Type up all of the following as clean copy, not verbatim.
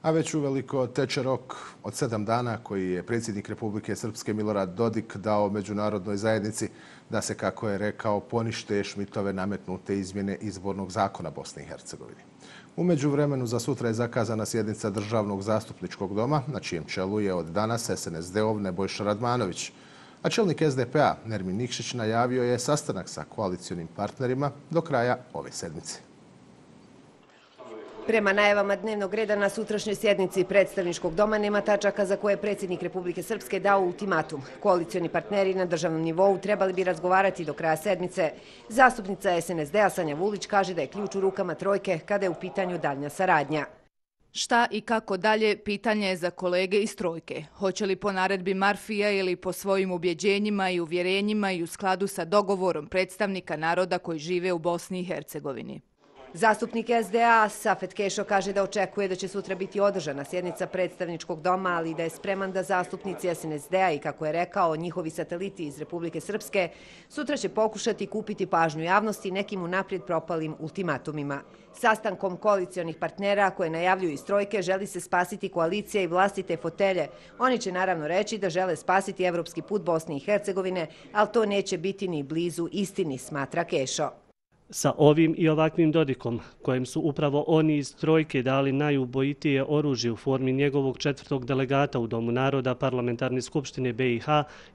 A već uveliko teče rok od 7 dana koji je predsjednik Republike Srpske Milorad Dodik dao međunarodnoj zajednici da se, kako je rekao, ponište Šmitove nametnute izmjene izbornog zakona Bosne i Hercegovine. U međuvremenu za sutra je zakazana sjednica Državnog zastupničkog doma, na čijem čelu je od danas SNSD-ov Nebojša Radmanović. A čelnik SDP-a Nermin Nikšić najavio je sastanak sa koalicionim partnerima do kraja ove sedmice. Prema najavama dnevnog reda na sutrašnjoj sjednici predstavničkog doma nema tačaka za koje je predsjednik Republike Srpske dao ultimatum. Koalicioni partneri na državnom nivou trebali bi razgovarati do kraja sedmice. Zastupnica SNSD-a Sanja Vulić kaže da je ključ u rukama trojke kada je u pitanju daljnja saradnja. Šta i kako dalje, pitanje je za kolege iz trojke. Hoće li po naredbi Marfija ili po svojim ubjeđenjima i uvjerenjima i u skladu sa dogovorom predstavnika naroda koji žive u Bosni i Hercegovini. Zastupnik SDA Safet Kešo kaže da očekuje da će sutra biti održana sjednica predstavničkog doma, ali da je spreman da zastupnici SNSD-a i, kako je rekao, njihovi sateliti iz Republike Srpske sutra će pokušati kupiti pažnju javnosti nekim unaprijed propalim ultimatumima. Sastankom koalicionih partnera koje najavljuju iz trojke želi se spasiti koalicija i vlastite fotelje. Oni će naravno reći da žele spasiti evropski put Bosne i Hercegovine, ali to neće biti ni blizu istini, smatra Kešo. Sa ovim i ovakvim Dodikom, kojem su upravo oni iz trojke dali najubojitije oružje u formi njegovog 4. delegata u Domu naroda Parlamentarne skupštine BiH,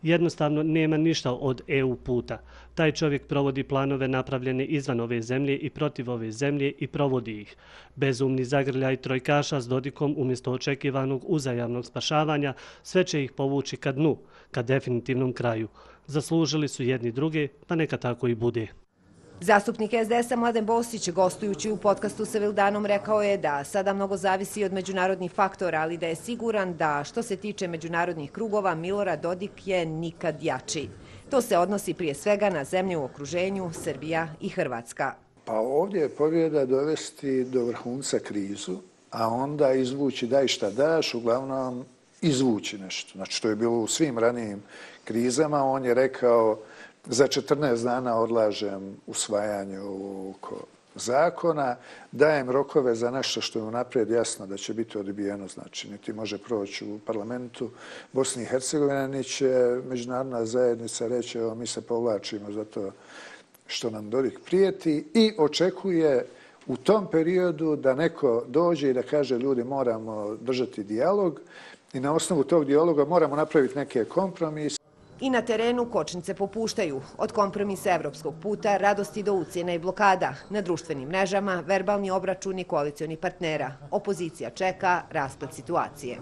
jednostavno nema ništa od EU puta. Taj čovjek provodi planove napravljene izvan ove zemlje i protiv ove zemlje i provodi ih. Bezumni zagrljaj trojkaša s Dodikom umjesto očekivanog uzajamnog spašavanja sve će ih povući ka dnu, ka definitivnom kraju. Zaslužili su jedni druge, pa neka tako i bude. Zastupnik SDS-a Mladen Bosić, gostujući u podcastu sa Vildanom, rekao je da sada mnogo zavisi od međunarodnih faktora, ali da je siguran da što se tiče međunarodnih krugova, Milorad Dodik je nikad jači. To se odnosi prije svega na zemlje u okruženju, Srbija i Hrvatska. Pa ovdje je pobjeda dovesti do vrhunca krizu, a onda izvući daj šta daš, uglavnom izvući nešto. Znači, to je bilo u svim ranijim krizama. On je rekao: za 14 dana odlažem usvajanje ovog zakona, dajem rokove za nešto što je unaprijed jasno da će biti odbijeno, znači niti može proći u parlamentu Bosne i Hercegovine, niti će međunarodna zajednica reći evo mi se povlačimo zato što nam Dodik prijeti, i očekuje u tom periodu da neko dođe i da kaže ljudi moramo držati dijalog i na osnovu tog dijaloga moramo napraviti neke kompromise. I na terenu kočnice popuštaju. Od kompromisa evropskog puta, radosti do ucjena i blokada. Na društvenim mrežama verbalni obračuni koalicioni partnera. Opozicija čeka rasplet situacije.